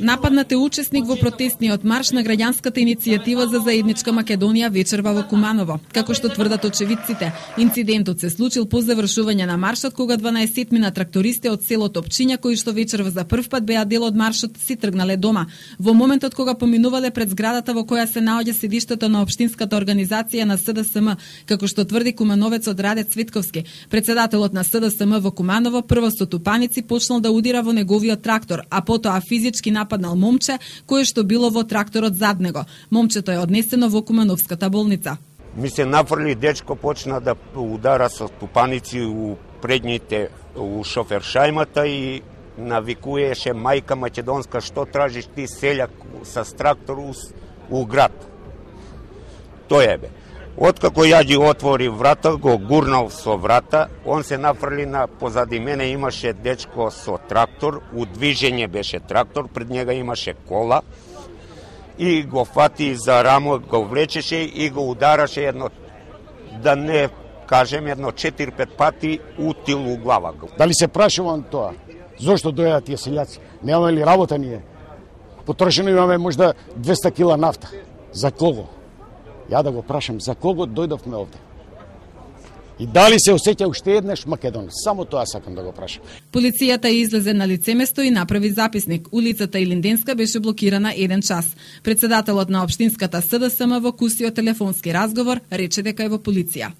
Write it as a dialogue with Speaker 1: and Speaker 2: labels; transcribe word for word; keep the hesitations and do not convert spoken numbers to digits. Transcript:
Speaker 1: Нападнат е учесник во протестниот марш на граѓанската иницијатива за заедничка Македонија вечерва во Куманово. Како што тврдат очевидците, инцидентот се случил по завршување на маршот, кога дванаесетмина трактористи од селото Опчиња, кои што вечерва за прв пат беа дел од маршот, си тргнале дома. Во моментот кога поминувале пред зградата во која се наоѓа седиштето на општинската организација на С Д С М, како што тврди кумановецот Раде Цветковски, председателот на С Д С М во Куманово прво со тупаници почнал да удира во неговиот трактор, а потоа физички нападнал момче кое што било во тракторот зад него. Момчето е однесено во Кумановската болница.
Speaker 2: Ми се нафрли дечко, почна да удара со тупаници у предните, у шофершајмата и навикуеше мајка македонска, што тражиш ти селјак со трактор у, у град. Тој е бе. Откако ја ги отвори врата, го гурнал со врата, он се нафрли на позади мене, имаше дечко со трактор, у движење беше трактор, пред njega имаше кола и го фати за рамо, го влечеше и го удараше едно, да не кажем, едно четири-пет пати у тил у глава.
Speaker 3: Дали се прашувам тоа? Зошто дојдат тие селјаци? Немаме ли работа ние? Потрошено имаме можда двеста кила нафта. За кого? Ја да го прашам, за кого дојдовме овде? И дали се осеќа уште еднаш Македонија? Само тоа сакам да го прашам.
Speaker 1: Полицијата излезе на лицеместо и направи записник. Улицата Илинденска беше блокирана еден час. Председателот на општинската С Д С М во кусиот телефонски разговор рече дека е во полиција.